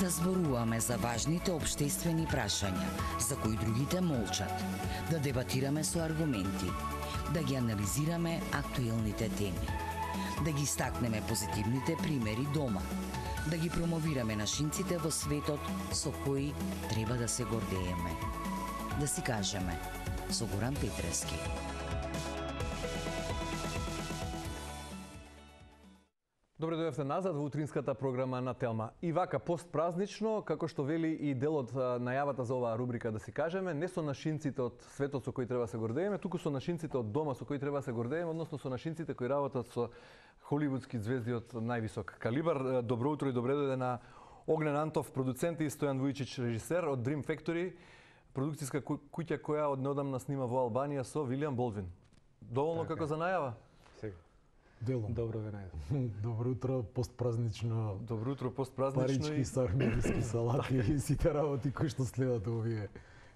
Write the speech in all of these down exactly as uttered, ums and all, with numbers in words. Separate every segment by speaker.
Speaker 1: Да зборуваме за важните општествени прашања, за кои другите молчат. Да дебатираме со аргументи. Да ги анализираме актуелните теми. Да ги стакнеме позитивните примери дома. Да ги промовираме нашинците во светот со кои треба да се гордееме. Да си кажеме со Горан Петрески.
Speaker 2: Добре дојдовте назад во утринската програма на Телма. И вака постпразнично, како што вели и дел од најавата за оваа рубрика, да си кажеме, не со нашинците од светот со кои треба да се гордееме, туку со нашинците од дома со кои треба да се гордееме, односно со нашинците кои работат со холивудски звезди од највисок калибар. Добро утро и добре дојде на Огнен Антов, продуцент, и Стојан Вујчич, режисер од Dream Factory, продукцијска куќа која од неодамна снима во Албанија со Вилијам Болдвин. Доволно така, како за најава?
Speaker 3: Сега. Делом. Добро ве најдов. Добро утро, постпразнично.
Speaker 2: Добро утро, постпразнично.
Speaker 3: Парички, сармијски салати и сите работи кои што следат овие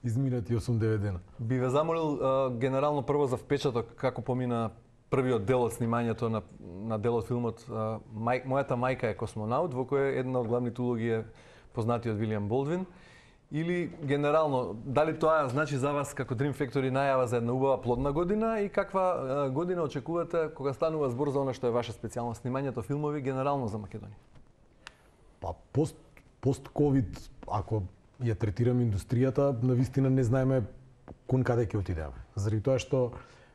Speaker 3: изминати осум-девет дена.
Speaker 2: Би ве замолил а, генерално прво за впечаток како помина првиот дел од снимањето на, на дел од филмот а, мај, Мојата мајка е космонаут, во кој една од главните улоги е познатиот Вилијам Болдвин. Или генерално, дали тоа значи за вас како Dream Factory најава за една убава плодна година и каква година очекувате кога станува збор за она што е ваша специјална снимањето филмови генерално за Македонија?
Speaker 3: Па пост пост ковид, ако ја третираме индустријата, навистина не знаеме кон каде ќе отидеме. Заради тоа што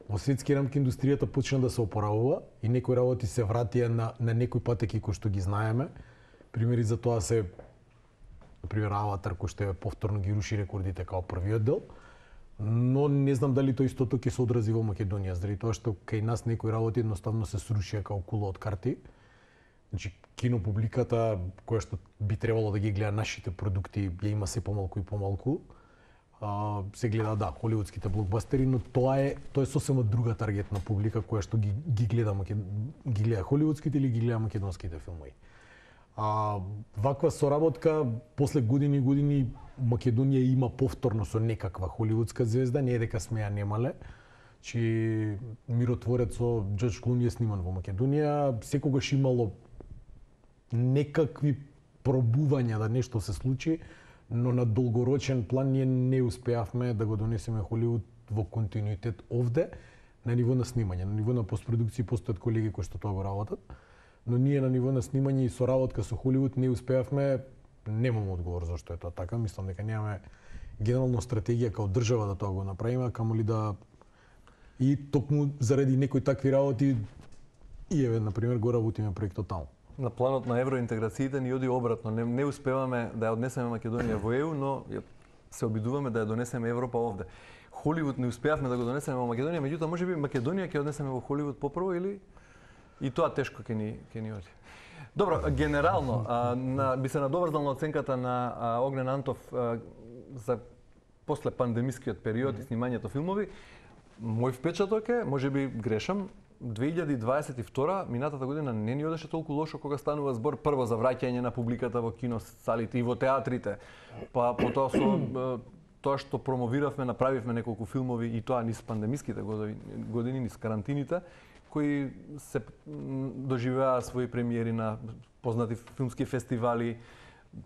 Speaker 3: во светски рамки индустријата почна да се опоравува и некои работи се вратија на на некои патеки кои што ги знаеме. Примери за тоа се например Аватар, кој што е повторно ги руши рекордите као првиот дел, но не знам дали тоа истото ќе се одрази во Македонија, заради тоа што кај нас некои работи едноставно се срушија као кула од карти. Значи, кинопубликата која што би требало да ги гледа нашите продукти, ја има се помалку и помалку. А, се гледа, да, холивудските блокбастери, но тоа е тоа е сосема друга таргетна публика која што ги, ги гледа ги гледа холивудските или ги гледа македонските филмови. А ваква соработка после години и години Македонија има повторно со некаква холивудска звезда, не е дека сме ја немале. Чи Миротворец со Џорџ Клуни е сниман во Македонија, секогаш имало некакви пробувања да нешто се случи, но на долгорочен план ние не успеавме да го донесеме Холивуд во континуитет овде на ниво на снимање, на ниво на постпродукција постојат колеги кои што тоа го работат. Но ние на ниво на снимање и соработка со Холивуд не успеавме, немам одговор зашто е тоа така, мислам дека немаме генерална стратегија као држава да тоа го направиме, камоли да и токму заради некои такви работи и еве на пример го работиме проектот таму.
Speaker 2: На планот на евроинтеграциите ни оди обратно, не, не успеваме да ја однесеме Македонија во Е У, но се обидуваме да ја донесеме Европа овде. Холивуд не успеавме да го донесеме во Македонија, меѓутоа можеби Македонија ќе однесеме во Холивуд попрво или и тоа тешко ќе ни ќе ни оди. Добро, генерално а, на, би се надоврзал на оценката на а, Огнен Антов а, за после пандемискиот период и снимањето филмови. Мој впечаток е, можеби грешам, две илјади дваесет и втора, минатата година не ни одеше толку лошо кога станува збор прво за враќање на публиката во киносалите и во театрите. Па потоа со тоа што промовиравме, направивме неколку филмови и тоа низ пандемиските години, низ карантините, кои се доживеа своји премиери на познати филмски фестивали,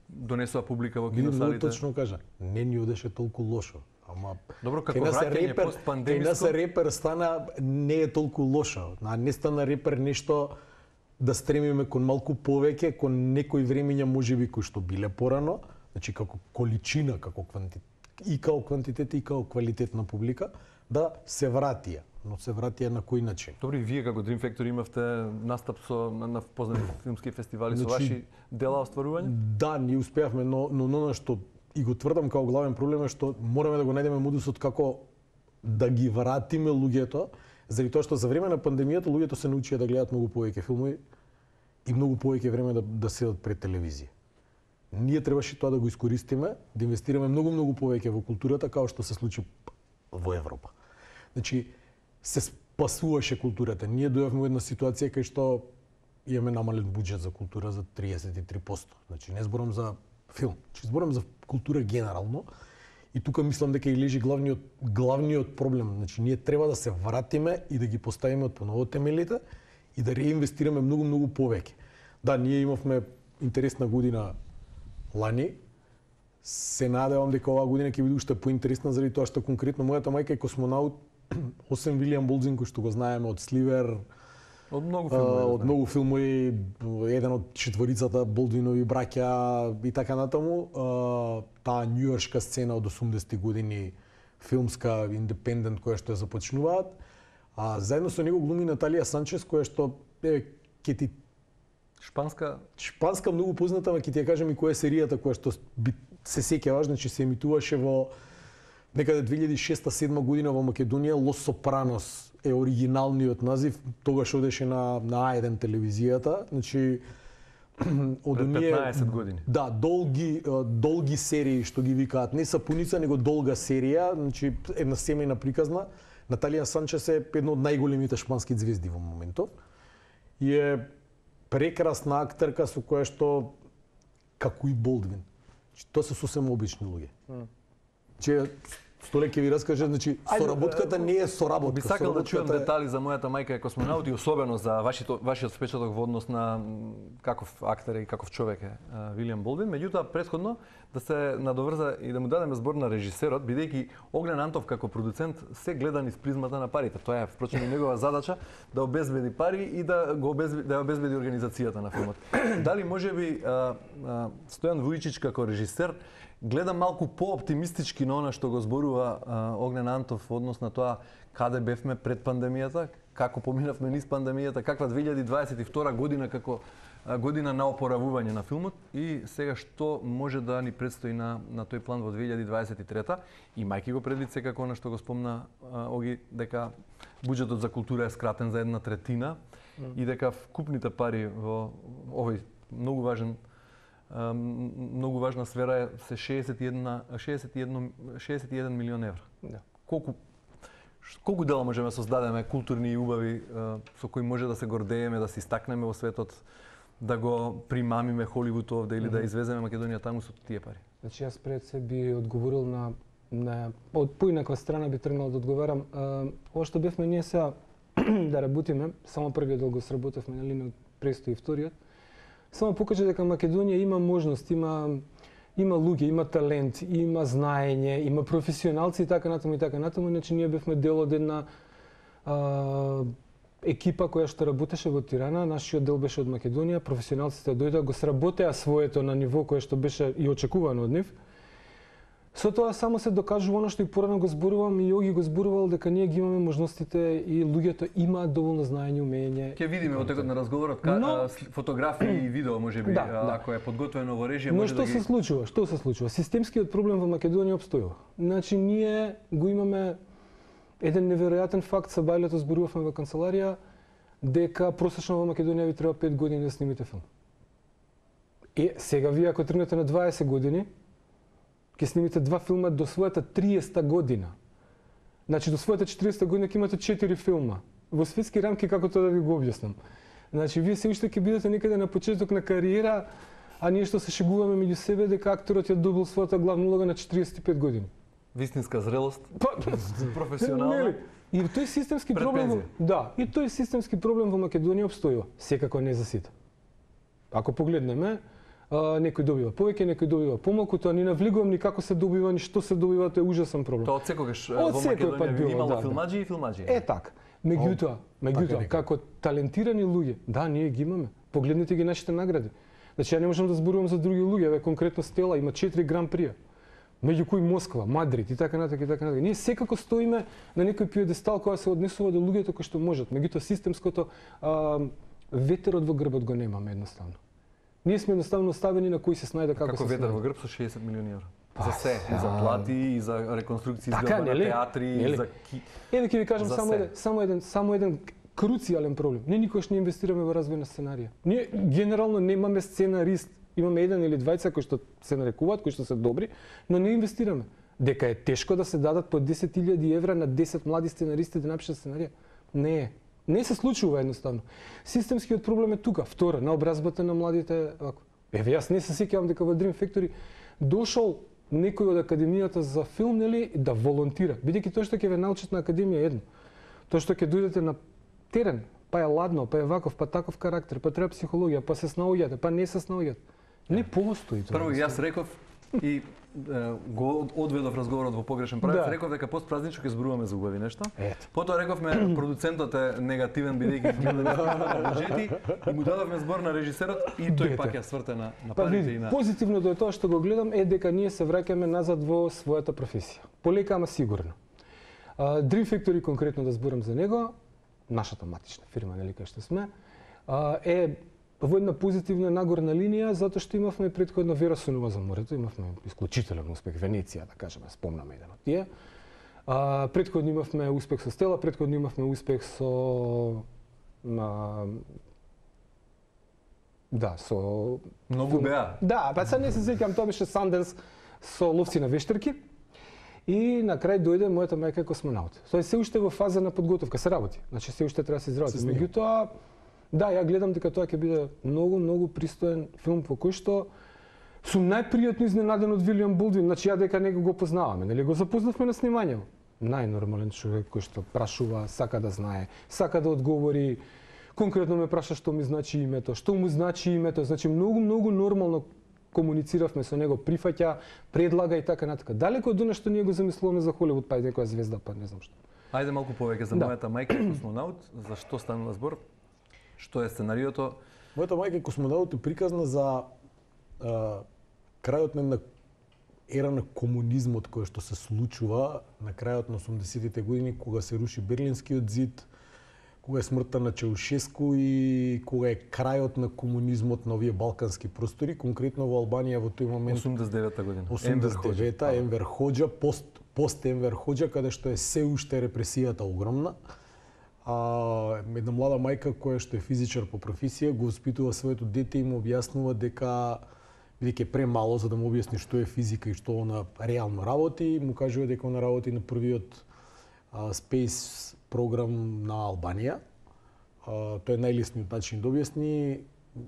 Speaker 2: донесоа публика во киносалите.
Speaker 3: Не, точно кажа, не ни одеше толку лошо. Ама
Speaker 2: добро, како враќање постпандемиско,
Speaker 3: кај нас репер стана не е толку лошо. А не стана репер нешто да стремиме кон малку повеќе, кон некои времења можеби кои што биле порано, значи како количина, како квантитет, и како квантитет и како квалитет на публика, да се вратија. Но се вратија на кој начин?
Speaker 2: Добро, и вие како Dream Factory имавте настап со на, на познати филмски фестивали, значи, со ваши дела остварување?
Speaker 3: Да, ние успеавме, но но но што и го тврдам како главен проблем е што мораме да го најдеме модусот како да ги вратиме луѓето, заради тоа што за време на пандемијата луѓето се научија да гледаат многу повеќе филмови и многу повеќе време да да седат пред телевизија. Ние требаше тоа да го искористиме, да инвестираме многу многу повеќе во културата, како што се случи во Европа. Значи се спасуваше културата. Ние дојавме во една ситуација кај што имаме намален буџет за култура за триесет и три проценти. Значи не зборам за филм, че зборам за култура генерално. И тука мислам дека и лежи главниот главниот проблем. Значи ние треба да се вратиме и да ги поставиме од поново темелите и да реинвестираме многу многу повеќе. Да, ние имавме интересна година лани. Се надевам дека оваа година ќе биде уште поинтересна заради тоа што конкретно мојата мајка е космонаут, освен Вилијам Болдзин кој што го знаеме од Сливер,
Speaker 2: од многу филмови,
Speaker 3: од многу филмови, еден од четворицата Болдвинови браќа и така натаму, таа њујоршка сцена од осумдесетти години, филмска, индепендент која што ја започнуваат, а заедно со него глуми Наталија Санчес која што е ќе ти
Speaker 2: шпанска
Speaker 3: шпанска многу позната, ама ќе ти ја кажам и која е серијата која што би се сеќаваш, значи се емитуваше во некаде две илјади и шеста седма година во Македонија. Лос Сопранос е оригиналниот назив, тогаш одеше на на А еден телевизијата, значи од
Speaker 2: пред
Speaker 3: оние
Speaker 2: петнаесет години.
Speaker 3: Да, долги долги серии што ги викаат, не сапуница, него долга серија, значи една семејна приказна. Наталија Санчес е една од најголемите шпански звезди во моментов и е прекрасна актерка со која што како и Болдвин. Тоа се сосем обични луѓе. Че Столе ќе ви раскаже, значи соработката не е соработка.
Speaker 2: Би сакал да чуам детали за мојата мајка е космонаут и особено за вашето вашиот впечаток во однос на каков актер и каков човек е Вилијам Болдвин. Меѓутоа претходно да се надоврза и да му дадеме збор на режисерот, бидејќи Оглен Антов како продуцент се гледа низ призмата на парите. Тоа е впрочем и негова задача да обезбеди пари и да го обезбеди, да обезбеди организацијата на филмот. Дали можеби Стојан Вујчич како режисер гледа малку по-оптимистички на она што го зборува а, Огнен Антов во однос на тоа каде бевме пред пандемијата, како поминавме низ пандемијата, каква две илјади дваесет и втора година како а, година на опоравување на филмот и сега што може да ни предстои на, на тој план во две илјади дваесет и трета, имајќи го предвид секако она што го спомна а, Оги, дека буџетот за култура е скратен за една третина mm. и дека вкупните пари во овој многу важен многу важна сфера е се шеесет и еден милион евра.
Speaker 4: Да.
Speaker 2: Колку колку дела можеме создадеме културни и убави со кои може да се гордееме, да се истакнеме во светот, да го примамиме Холивуд овде или mm -hmm. да извеземе Македонија таму со тие пари?
Speaker 4: Значи јас пред се би одговорил на на од поинаква страна би тргнал да одговарам. Ова што бевме ние сега да работиме, само првиот дел го сработевме, нели, но престои вториот. Само покажа дека Македонија има можност, има има луѓе, има талент, има знаење, има професионалци и така натаму и така натаму, иначе ние бевме дел од една а, екипа која што работеше во Тирана, нашиот дел беше од Македонија, професионалците дојдоа, го сработеа своето на ниво кое што беше и очекувано од нив. Со тоа само се докажува она што и порано го зборувам и Јоги го зборувал дека ние ги имаме можностите и луѓето имаат доволно знаење, умење.
Speaker 2: Ќе видиме во текот на разговорот ка, но, фотографии и видео можеби,
Speaker 4: да, да.
Speaker 2: ако е подготвено во режија,
Speaker 4: но
Speaker 2: може
Speaker 4: што
Speaker 2: да ги...
Speaker 4: се случува? Што се случува? Системскиот проблем во Македонија опстојува. Значи ние го имаме еден неверојатен факт, са бајлето зборувавме во канцеларија дека просечно во Македонија ви треба пет години да снимите филм. Е, сега вие ако тргнете на дваесет години, ќе снимите два филма до својата триесета година. Значи до својата четиридесета година ќе имате четири филма. Во светски рамки како тоа да ви го објаснам. Значи вие се уште ќе бидете некаде на почеток на кариера, а ние што се шегуваме меѓу себе дека акторот ја добил својата главна улога на четиридесет и пет години.
Speaker 2: Вистинска зрелост,
Speaker 4: па,
Speaker 2: професионална.
Speaker 4: Нели? И тој системски проблем, во... да, и тој системски проблем во Македонија опстојува, секако не за сите. Ако погледнеме, Uh, некој добива повеќе, некој добива помалку, тоа не навлегувам ни како се добива, ни што се добива, тоа е ужасен проблем.
Speaker 2: Тоа од секогаш во Македонија било, имало да, филмаџи и филмаџи.
Speaker 4: Е така. Меѓутоа, меѓутоа како талентирани луѓе, да, ние ги имаме. Погледнете ги нашите награди. Значи ја не можам да зборувам за други луѓе, ве конкретно Стела има четири гран прија. Меѓу кои Москва, Мадрид и така натаму и така натаму. Ние секако стоиме на некој пиедестал која се однесува до луѓето кои што можат. Меѓутоа системското а, ветерот во грбот го немаме едноставно. Ние сме едноставно оставени на кој се снајде како,
Speaker 2: како
Speaker 4: се
Speaker 2: ветер
Speaker 4: снајде.
Speaker 2: во грб со шеесет милиони евра.
Speaker 4: Па,
Speaker 2: за се, и за плати, и за реконструкција
Speaker 4: така,
Speaker 2: изгледа на театри, и за ки...
Speaker 4: Еве ќе ви кажам само
Speaker 2: се.
Speaker 4: еден, само еден, само еден круцијален проблем. Ние никогаш не инвестираме во развој на сценарија. Ние генерално немаме сценарист. Имаме еден или двајца кои што се нарекуваат, кои што се добри, но не инвестираме. Дека е тешко да се дадат по десет илјади евра на десет млади сценаристи да напишат сценарија. Не е. Не се случува едноставно. Системскиот проблем е тука. Втора, на образбата на младите вако. Еве, јас не се сеќавам дека во Dream Factory дошол некој од Академијата за филм, нели, да волонтира. Бидејќи тоа што ќе ве научат на Академија е едно. Тоа што ќе дојдете на терен, па е ладно, па е ваков, па таков карактер, па треба психологија, па се снаоѓате, па не се снаоѓате. Не постои тоа.
Speaker 2: Прво јас реков и го одведов разговорот во погрешен правец,
Speaker 4: Да.
Speaker 2: реков дека постпразнично ќе зборуваме за убави нешта.
Speaker 4: Ето.
Speaker 2: Потоа рековме продуцентот е негативен бидејќи ги гледа буџети и му дадовме збор на режисерот и тој
Speaker 4: Дете.
Speaker 2: пак ја сврте на на
Speaker 4: Па
Speaker 2: парите
Speaker 4: види,
Speaker 2: и на
Speaker 4: позитивното е тоа што го гледам е дека ние се враќаме назад во својата професија. Полека, ама сигурно. А, Dream Factory, конкретно да зборам за него, нашата матична фирма, нели кај што сме, а, е во една позитивна нагорна линија, затоа што имавме претходно Вера Сонова за морето, имавме исклучителен успех Венеција, да кажеме, спомнаме еден од тие. А, претходно имавме успех со Стела, претходно имавме успех со а, да, со
Speaker 2: многу беа.
Speaker 4: Да, па сега не се сеќам, тоа беше Санденс со Ловци на вештарки. И на крај дојде мојата мајка е космонаут. Тоа е се уште во фаза на подготовка, се работи. Значи се уште треба да се изработи. Меѓутоа, да, ја гледам дека тоа ќе биде многу, многу пристоен филм во кој што сум најпријатно изненаден од Вилијам Болдвин. Значи ја дека него го познаваме, нели го запознавме на снимањето. Најнормален човек кој што прашува, сака да знае, сака да одговори. Конкретно ме праша што ми значи името, што му значи името. Значи многу, многу нормално комунициравме со него, прифаќа, предлага и така натака. Далеко од она што ние го замислуваме за Холивуд, па и некоја звезда, па не знам што.
Speaker 2: Ајде малку повеќе за
Speaker 4: Да.
Speaker 2: мојата мајка космонаут, за што станува збор? Што е сценариото?
Speaker 3: Мојата мајка е космонаут и приказна за а, крајот на една ера на комунизмот кој што се случува на крајот на осумдесетите години, кога се руши Берлинскиот зид, кога е смртта на Чаушеску и кога е крајот на комунизмот на овие балкански простори, конкретно во Албанија во тој момент
Speaker 2: осумдесет и девета година.
Speaker 3: осумдесет и девета Енвер Хоџа, пост пост Енвер Хоџа, каде што е се уште репресијата огромна. А, една млада мајка која што е физичар по професија го воспитува своето дете и му објаснува дека бидејќи е премало за да му објасни што е физика и што она реално работи, му кажува дека она работи на првиот а, space програм на Албанија. А, тоа е најлесниот начин да објасни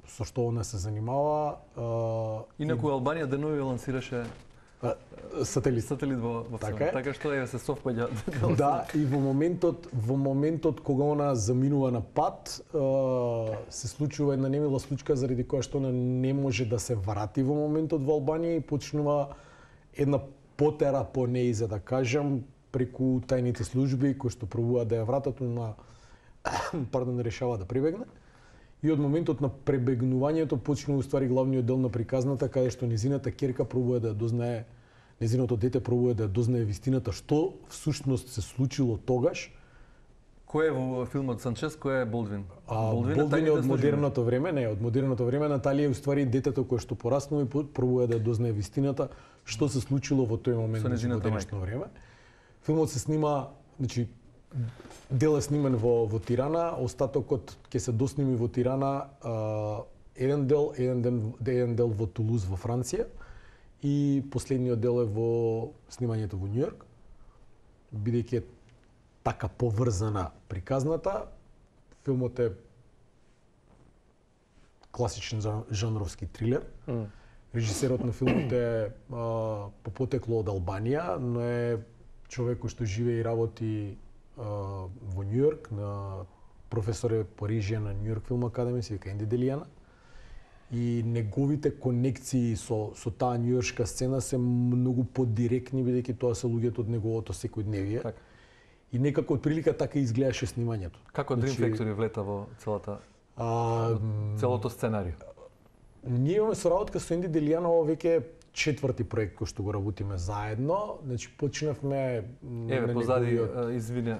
Speaker 3: со што она се занимава. А,
Speaker 2: Инаку Албанија денови лансираше
Speaker 3: а, сателит.
Speaker 2: сателит во во
Speaker 3: Така
Speaker 2: Вселената,
Speaker 3: е.
Speaker 2: така што е се совпаѓа.
Speaker 3: Да, и во моментот во моментот кога она заминува на пат, е, се случува една немила случка заради која што она не може да се врати во моментот во Албанија и почнува една потера по неј, за да кажам, преку тајните служби кои што пробуваат да ја вратат, на пардон, решава да пребегне. И од моментот на пребегнувањето почнува уствари главниот дел на приказната, каде што незината ќерка пробува да ја дознае, незиното дете пробува да ја дознае вистината што всушност се случило тогаш.
Speaker 2: Кој е во филмот Санчес, кој е Болдвин?
Speaker 3: А,
Speaker 2: Болдвин
Speaker 3: Болдвин е
Speaker 2: тајните
Speaker 3: од
Speaker 2: служби.
Speaker 3: модерното време, не, од модерното време Наталија е уствари детето кое што пораснува и пробува да ја дознае вистината што се случило во тој момент
Speaker 2: Со
Speaker 3: во
Speaker 2: нејзината
Speaker 3: денешно време. Филмот се снима, значи дел е снимен во во Тирана, остатокот ќе се досними во Тирана, а, еден дел, еден ден, еден дел во Тулуз во Франција и последниот дел е во снимањето во Њујорк. Бидејќи е така поврзана приказната, филмот е класичен жан- жанровски трилер.
Speaker 4: Mm.
Speaker 3: Режисерот на филмот е а, по потекло од Албанија, но е човек кој што живее и работи а, во Њујорк, на професор е по режија на Њујорк Филм Академија, се вика Енди Делијана. И неговите конекции со со таа њујоршка сцена се многу подиректни, бидејќи тоа се луѓето од неговото секојдневие.
Speaker 2: Така.
Speaker 3: И некако од прилика така изгледаше снимањето.
Speaker 2: Како Dream
Speaker 3: Значи,
Speaker 2: Factory влета во целата
Speaker 3: А,
Speaker 2: целото сценарио?
Speaker 3: ние имаме соработка со Енди Делијана, ова веќе е четврти проект кој што го работиме заедно. Значи почнавме
Speaker 2: Еве
Speaker 3: на
Speaker 2: позади,
Speaker 3: неговиот-
Speaker 2: а, извини, а,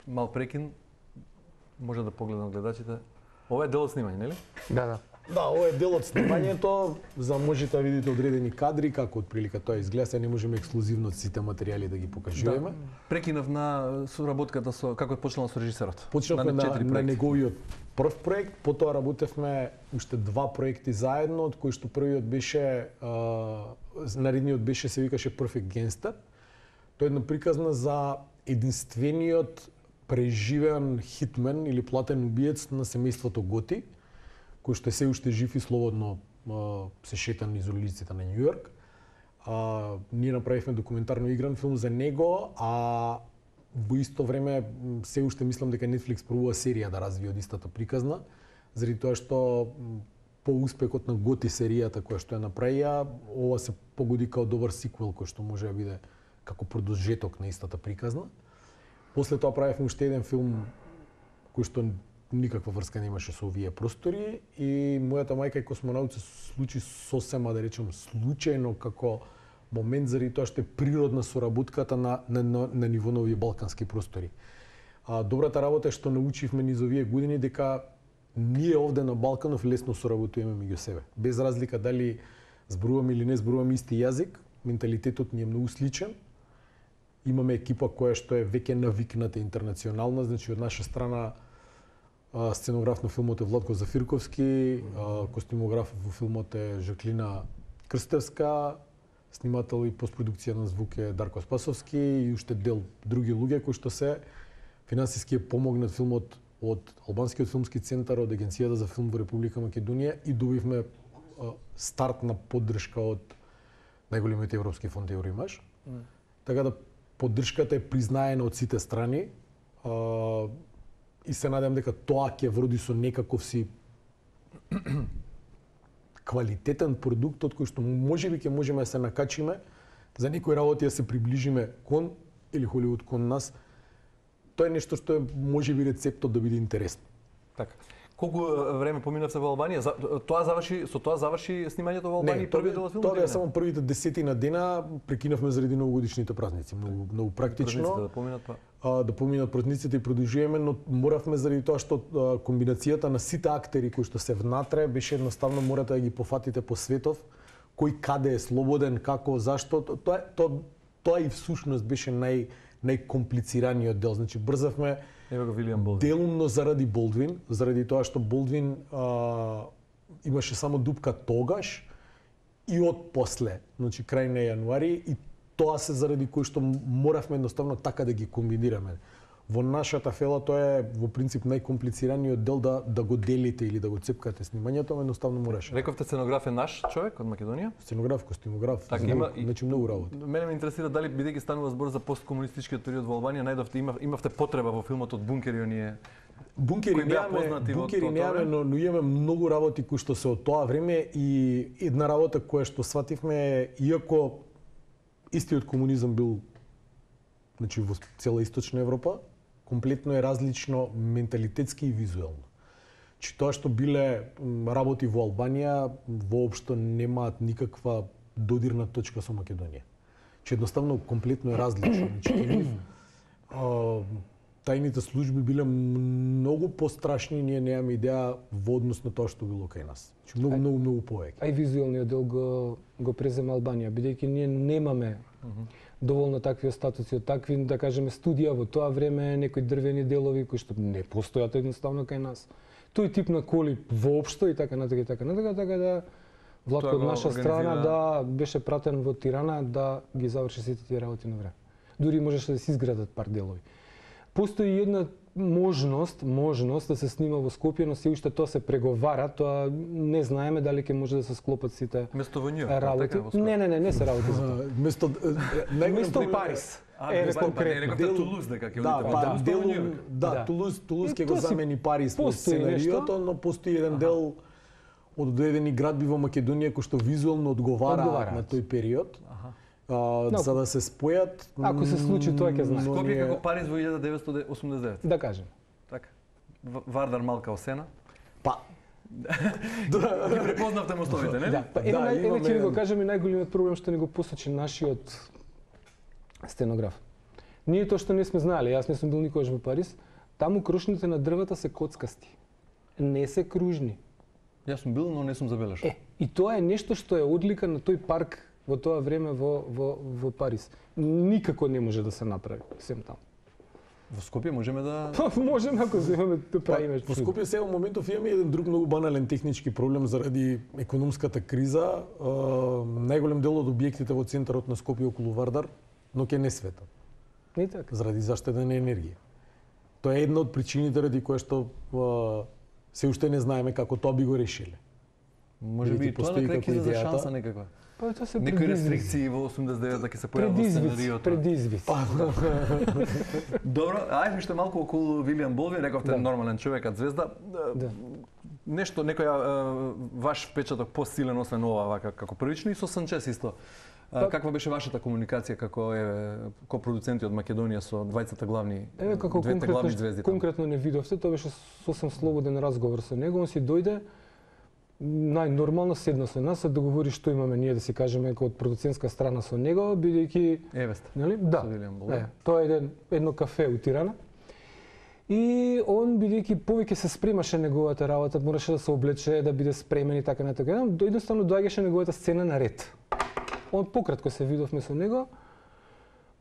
Speaker 2: мал прекин. Може да погледнат гледачите. Ова е дел од снимање, нели?
Speaker 4: Да, да.
Speaker 3: Да, ова е дел од снимањето, за можете да видите одредени кадри како отприлика тоа изгледа, се не можеме ексклузивно сите материјали да ги покажуваме.
Speaker 2: Прекинав на соработката со како е почнала со режисерот.
Speaker 3: Почнавме на,
Speaker 2: четири
Speaker 3: на
Speaker 2: проекти.
Speaker 3: неговиот прв проект, потоа работевме уште два проекти заедно, од кои што првиот беше, а, наредниот беше, се викаше Perfect Gangster. Тоа е една приказна за единствениот преживеан хитмен или платен убиец на семејството Готи, кој што е се уште жив и слободно а, се шета низ улиците на Њујорк. А, ние направивме документарно игран филм за него, а во исто време м, се уште мислам дека Netflix пробува серија да развие од истата приказна, заради тоа што м, по успехот на Готи серијата која што ја направија, ова се погоди као добар сиквел кој што може да биде како продолжеток на истата приказна. После тоа правевме уште еден филм кој што никаква врска немаше со овие простори и мојата мајка и космонаут се случи сосема, да речем, случајно како момент заради тоа што е природна соработката на, на, на, на ниво на овие балкански простори. А, добрата работа е што научивме низ овие години дека ние овде на Балканов лесно соработуваме меѓу себе. Без разлика дали зборуваме или не зборуваме исти јазик, менталитетот ни е многу сличен. Имаме екипа која што е веќе навикната интернационална, значи од наша страна сценограф на филмот е Владко Зафирковски, костюмограф во филмот е Жаклина Крстевска, снимател и постпродукција на звук е Дарко Спасовски и уште дел други луѓе кои што се финансиски е помогнат филмот од Албанскиот филмски центар, од Агенцијата за филм во Република Македонија и добивме стартна поддршка од најголемиот европски фонд Евроимаж. Mm. Така да поддршката е признаена од сите страни а, и се надевам дека тоа ќе вроди со некаков си квалитетен продукт од кој што можеби ќе можеме да се накачиме за некои работи да се приближиме кон или Холивуд кон нас. Тоа е нешто што е можеби рецептот да биде интересно.
Speaker 2: Така. Колку време поминавте во Албанија? За, тоа заврши, со тоа заврши снимањето во Албанија, првиот дел од филмот?
Speaker 3: Тоа е само првите десетина дена, прекинавме заради новогодишните празници, многу многу практично.
Speaker 2: Да поминат па.
Speaker 3: А, да поминат празниците и продолжуваме, но моравме заради тоа што а, комбинацијата на сите актери кои што се внатре беше едноставно морате да ги пофатите по светов, кој каде е слободен, како, зашто, тоа тоа тоа и всушност беше нај најкомплицираниот дел. Значи брзавме
Speaker 2: Ево го Вилијам Болдвин.
Speaker 3: Делумно заради Болдвин, заради тоа што Болдвин а, имаше само дупка тогаш и од после, значи крај на јануари и тоа се заради кој што моравме едноставно така да ги комбинираме. Во нашата фела тоа е во принцип најкомплицираниот дел да да го делите или да го цепкате снимањето, едноставно мораше.
Speaker 2: Рековте сценограф е наш човек од Македонија?
Speaker 3: Сценограф, костюмограф,
Speaker 2: така има
Speaker 3: значи многу работа.
Speaker 2: Мене ме интересира дали бидејќи станува збор за посткомунистичкиот период во Албанија, најдовте имав, имавте потреба во филмот од Бункери оние
Speaker 3: Бункери немаме, бункери немаме, но, но имаме многу работи кои што се од тоа време и една работа која што свативме, иако истиот комунизам бил значи во цела источна Европа, комплетно е различно менталитетски и визуелно. Че тоа што биле работи во Албанија воопшто немаат никаква додирна точка со Македонија. Че едноставно комплетно е различно. Значи, а, тајните служби биле многу пострашни и ние немаме идеја во однос на тоа што било кај нас. Значи, многу, многу, многу повеќе.
Speaker 4: А и визуелниот дел го, го презема Албанија, бидејќи ние немаме uh -huh. доволно такви статуси од такви, да кажеме, студија во тоа време, некои дрвени делови кои што не постојат едноставно кај нас. Тој тип на коли воопшто и така натака и така натака, така да Владко од наша страна да беше пратен во Тирана да ги заврши сите тие работи на време. Дури можеше да се изградат пар делови. Постои една можност, можност да се снима во Скопје, но се уште тоа се преговара, тоа не знаеме дали ќе може да се склопат сите
Speaker 2: место во Њујорк,
Speaker 4: работи.
Speaker 2: така,
Speaker 4: не, не, не, не се работи за тоа.
Speaker 3: Место
Speaker 4: место Париз.
Speaker 2: Е, конкретно. Рекавте Тулуз дека ќе одите
Speaker 3: во
Speaker 2: Тулуз.
Speaker 3: Дел, да, Тулуз, Тулуз ќе го замени Париз во сценариото, но постои еден дел од одредени градби во Македонија кои што визуелно одговара на тој период. Uh, no, за да се спојат.
Speaker 4: Ако се случи тоа ќе знае.
Speaker 2: Скопје ние... како Париз во илјада деветстотини осумдесет и девета.
Speaker 4: Да кажем.
Speaker 2: Така. Вардар Малка Осена.
Speaker 3: Па.
Speaker 2: Ги препознавте мостовите, не?
Speaker 4: Да, па, еве, да, еве ќе ви го кажем и најголемиот проблем што ни го посочи нашиот сценограф. Ние тоа што не сме знаеле, јас не сум бил никогаш во Париз, таму крошните на дрвата се коцкасти. Не се кружни.
Speaker 2: Јас сум бил, но не сум забележал.
Speaker 4: Е, и тоа е нешто што е одлика на тој парк во тоа време во, во, во Париз. Никако не може да се направи, сем таму.
Speaker 2: Во Скопје можеме да...
Speaker 4: можеме ако земеме да правиме.
Speaker 3: Во Скопје сега во моментов имаме еден друг многу банален технички проблем заради економската криза. Uh, најголем дел од објектите во центарот на Скопје околу Вардар, но ќе не светат.
Speaker 4: Не така.
Speaker 3: Заради заштеда на енергија. Тоа е една од причините ради која што uh, се уште не знаеме како тоа би го решиле.
Speaker 2: Може би тоа на крај ќе за шанса некаква.
Speaker 4: Па тоа се
Speaker 2: некои рестрикции во осумдесет и девета ќе се појават во сценариото.
Speaker 4: Предизвик.
Speaker 2: Добро, ајде уште малку околу Вилијам Болдвин, рековте да. Нормален човек, а звезда.
Speaker 4: Да.
Speaker 2: нешто некоја е, ваш впечаток посилен освен ова вака како првично и со Санчес исто. Па, каква беше вашата комуникација како е копродуценти од Македонија со двајцата главни
Speaker 4: Еве како
Speaker 2: двете главни звезди?
Speaker 4: Конкретно не видовте, тоа беше сосем слободен разговор со него, он си дојде најнормално седна со нас, да договори што имаме ние да си кажеме како од продуцентска страна со него, бидејќи
Speaker 2: Евест.
Speaker 4: Нели? Да. Е, тоа е еден, едно кафе у Тирана. И он бидејќи повеќе се спремаше неговата работа, мораше да се облече, да биде спремен и така натака. Едноставно доаѓаше неговата сцена на ред. Он пократко се видовме со него.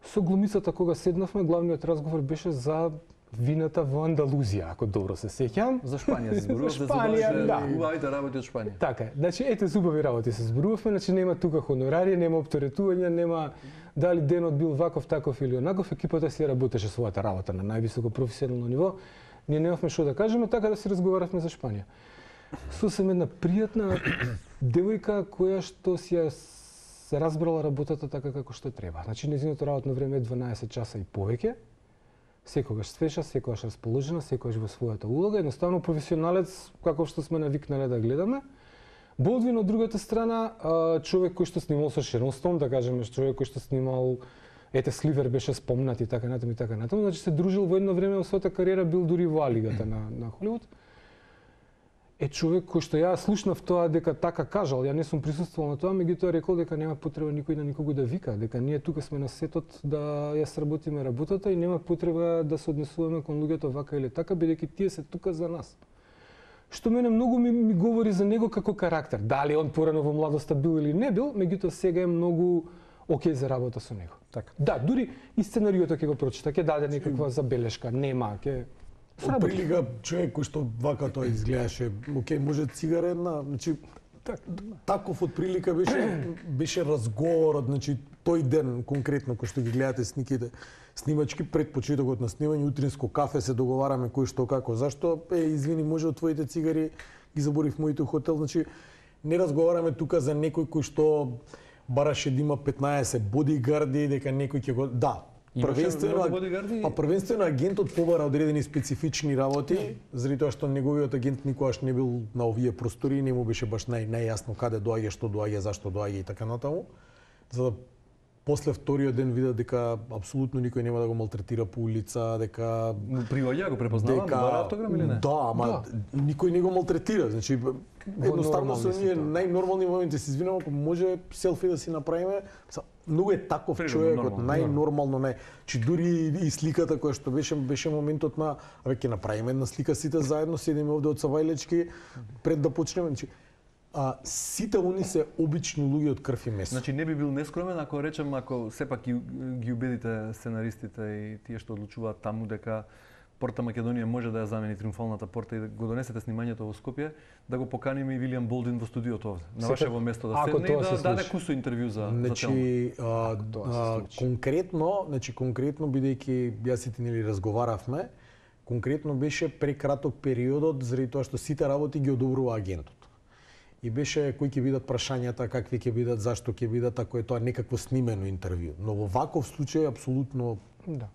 Speaker 4: Со глумицата кога седнавме, главниот разговор беше за вината во Андалузија, ако добро се сеќам.
Speaker 2: За Шпанија се зборува,
Speaker 4: за Шпанија, да.
Speaker 2: Убавите работи од Шпанија.
Speaker 4: Така е. Значи ете убави работи се зборувавме, значи нема тука хонорари, нема оптеретување, нема дали денот бил ваков, таков или онаков, екипата си работеше својата работа на највисоко професионално ниво. Ние немавме што да кажеме, така да си разговаравме за Шпанија. Сосем една пријатна девојка која што си ја се разбрала работата така како што треба. Значи нејзиното работно време е дванаесет часа и повеќе. Секогаш свежа, секогаш расположена, секогаш во својата улога, едноставно професионалец каков што сме навикнале да гледаме. Болдвин од другата страна, човек кој што снимал со Шерон Стоун, да кажеме, човек кој што снимал ете Сливер беше спомнат и така натаму и така натаму, значи се дружил во едно време во својата кариера, бил дури во А-лигата на на Холивуд. Е човек кој што ја слушнав тоа дека така кажал, ја не сум присуствувал на тоа, меѓутоа рекол дека нема потреба никој на никого да вика, дека ние тука сме на сетот да ја сработиме работата и нема потреба да се однесуваме кон луѓето вака или така, бидејќи тие се тука за нас. Што мене многу ми, ми говори за него како карактер. Дали он порано во младоста бил или не бил, меѓутоа сега е многу окей за работа со него.
Speaker 2: Така.
Speaker 4: Да, дури и сценариото ќе го прочита, ќе даде некаква забелешка, нема, ќе
Speaker 3: Од прилика човек кој што вака тоа изгледаше, окей, може цигара една, значи так, таков од прилика беше беше разговорот, значи тој ден конкретно кој што ги гледате сниките, снимачки пред почетокот на снимање, утринско кафе се договараме кој што како, зашто е извини, може од твоите цигари ги заборив моите хотел, значи не разговараме тука за некој кој што бараше да има петнаесет бодигарди, дека некој ќе го да. Првенствено, па првенствено агентот побара одредени специфични работи, заради тоа што неговиот агент никогаш не бил на овие простори, не му беше баш нај најјасно каде доаѓа, што доаѓа, зашто доаѓа и така натаму. За да после вториот ден вида дека апсолутно никој нема да го малтретира по улица, дека
Speaker 2: Приваѓа го препознава, дека... бара автограм или не?
Speaker 3: Да, ама да. Никој не го малтретира, значи едноставно со ние најнормални моменти се извинувам, ако може селфи да си направиме. Многу е таков човекот, најнормално не. Чи дури и сликата која што беше беше моментот на абе ќе направиме една слика сите заедно, седиме овде од Савајлечки пред да почнеме. Значи, а сите они се обични луѓе од крв и месо.
Speaker 2: Значи не би бил нескромен ако речем, ако сепак ги, ги убедите сценаристите и тие што одлучуваат таму дека Порта Македонија може да ја замени триумфалната порта и да го донесете снимањето во Скопје, да го поканиме и Вилијам Болдин во студиото овде. На вашево место да седне и да даде кусо интервју за
Speaker 3: значи, за а, а, конкретно, значи конкретно бидејќи јас и ти нели разговаравме, конкретно беше прекраток периодот заради тоа што сите работи ги одобрува агентот. И беше кои ќе бидат прашањата, какви ќе бидат, зашто ќе бидат, ако е тоа некакво снимено интервју. Но во ваков случај апсолутно
Speaker 4: да.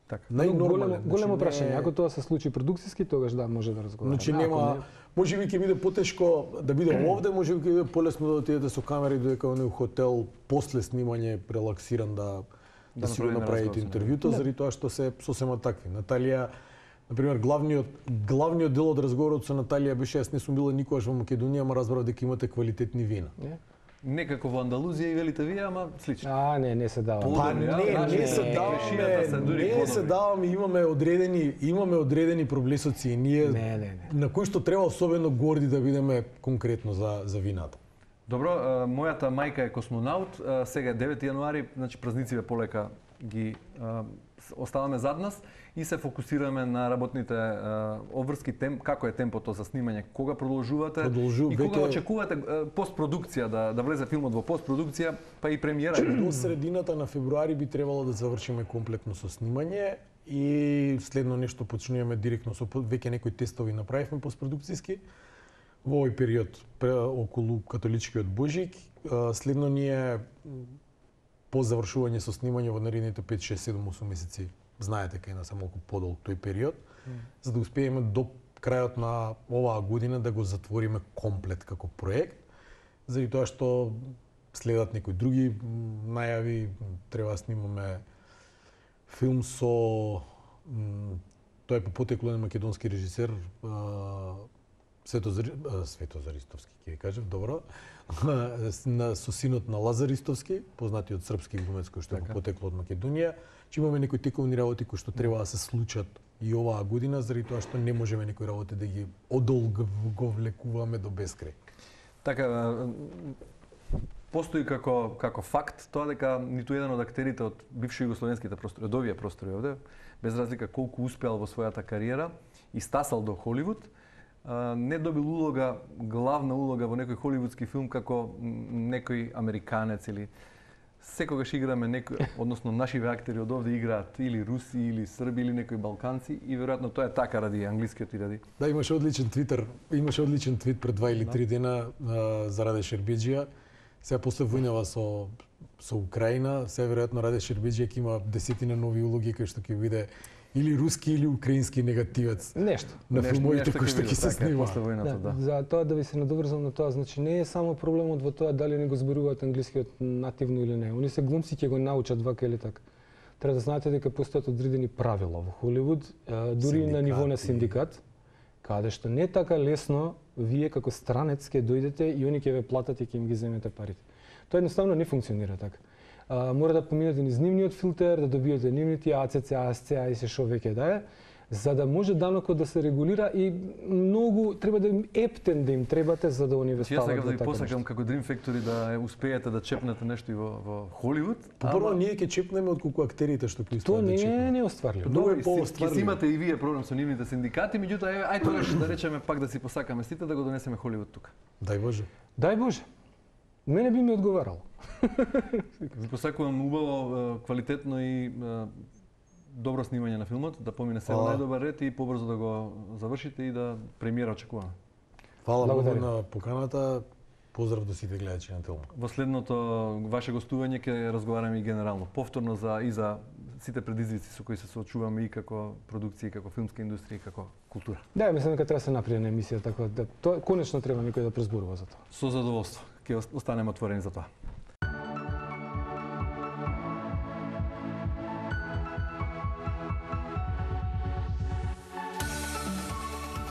Speaker 3: Така.
Speaker 4: Големо, големо прашање. Ако тоа се случи продукциски, тогаш да може да разговараме.
Speaker 3: Значи нема, може би ќе биде потешко да биде овде, може би ќе биде полесно да отидете со камери додека оној хотел после снимање релаксиран да да, да си го направите интервјуто, заради тоа што се сосема такви. Наталија, например, главниот главниот дел од разговорот со Наталија беше јас не сум била никогаш во Македонија, ама разбрав дека имате квалитетни вина.
Speaker 4: Не?
Speaker 2: Некако во Андалузија и велите вие, ама слично.
Speaker 4: А, не, не се дава.
Speaker 3: Па не, не, не се даваме, не се даваме, имаме одредени, имаме одредени проблесоци и ние
Speaker 4: не, не, не.
Speaker 3: на кои што треба особено горди да бидеме конкретно за за вината.
Speaker 2: Добро, мојата мајка е космонаут, сега е девети јануари, значи празниците полека ги оставаме зад нас и се фокусираме на работните обврски тем, како е темпото за снимање, кога продолжувате
Speaker 3: Продолжу,
Speaker 2: и кога
Speaker 3: веќе...
Speaker 2: очекувате постпродукција да да влезе филмот во постпродукција, па и премиера.
Speaker 3: До средината на февруари би требало да завршиме комплетно со снимање и следно нешто почнуваме директно со веќе некои тестови направивме постпродукцијски во овој период околу католичкиот Божик. Следно ние по завршување со снимање во наредните пет, шест, седум, осум месеци, знаете кај нас е малку подолг тој период, mm. за да успееме до крајот на оваа година да го затвориме комплет како проект, заради тоа што следат некои други најави, треба да снимаме филм со тој е по потекло на македонски режисер Свето Зари... Свето Заристовски, ќе ви кажев, добро, на со синот на Лазар Ристовски, познатиот српски глумец кој што е по потекло од Македонија, че имаме некои тековни работи кои што треба да се случат и оваа година, заради тоа што не можеме некои работи да ги одолговлекуваме до бескрај.
Speaker 2: Така, постои како како факт тоа дека ниту еден од актерите од бивши југословенските простори, од овие простори овде, без разлика колку успеал во својата кариера и стасал до Холивуд, не добил улога, главна улога во некој холивудски филм како некој американец или секогаш играме некој, односно нашиве актери од овде играат или руси или срби или некои балканци и веројатно тоа е така ради англискиот и ради.
Speaker 3: Да, имаше одличен твитер, имаше одличен твит пред два или три дена а, за Раде Шербеджија. Сега после војнава со со Украина, сега веројатно Раде Шербеджија ќе има десетина нови улоги кои што ќе биде или руски или украински негативец.
Speaker 4: Нешто.
Speaker 3: На филмовите кои што ќе се снима.
Speaker 2: Да, да.
Speaker 4: За тоа да ви се надоврзам на тоа, значи не е само проблемот во тоа дали не го зборуваат англискиот нативно или не. Они се глумци ќе го научат вака или така. Треба да знаете дека постојат одредени правила во Холивуд, дури на ниво на синдикат, каде што не е така лесно вие како странец ќе дојдете и они ќе ве платат и ќе им ги земете парите. Тоа едноставно не функционира така. Uh, мора да поминете низ нивниот филтер, да добиете нивните А Ц Ц, А С Ц, и се шо веќе да е, за да може данокот да се регулира и многу треба да им ептен да им требате за да они ве стават.
Speaker 2: Јас сакам да ви посакам како Dream Factory да успеете да чепнете нешто и во во Холивуд.
Speaker 3: Прво ама... ние ќе чепнеме од колку актерите што ќе успеат да чепнат.
Speaker 4: Тоа не е неостварливо.
Speaker 3: Многу е
Speaker 2: поостварливо. Ќе имате и вие проблем со нивните синдикати, меѓутоа ај тогаш да речеме пак да си посакаме сите да го донесеме Холивуд тука.
Speaker 3: Дај Боже.
Speaker 4: Дај Боже. Мене би ми одговарало.
Speaker 2: Ви посакувам убаво, квалитетно и добро снимање на филмот, да помине се во најдобар ред и побрзо да го завршите и да премиера очекуваме.
Speaker 3: Фала многу на поканата. Поздрав до сите гледачи на Телма.
Speaker 2: Во следното ваше гостување ќе разговараме и генерално, повторно за и за сите предизвици со кои се соочуваме и како продукција, и како филмска индустрија, и како култура.
Speaker 4: Да, мислам дека треба да се направи една емисија така да тоа конечно треба некој да презборува за тоа.
Speaker 2: Со задоволство. Ќе останеме отворени за тоа.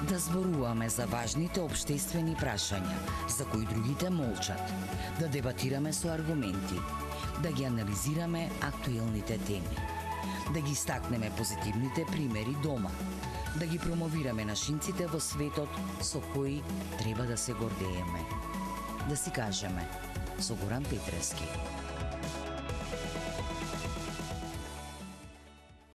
Speaker 1: Да зборуваме за важните општествени прашања, за кои другите молчат, да дебатираме со аргументи, да ги анализираме актуелните теми, да ги стакнеме позитивните примери дома, да ги промовираме нашинците во светот со кои треба да се гордееме. Да си кажеме со Горан Петревски.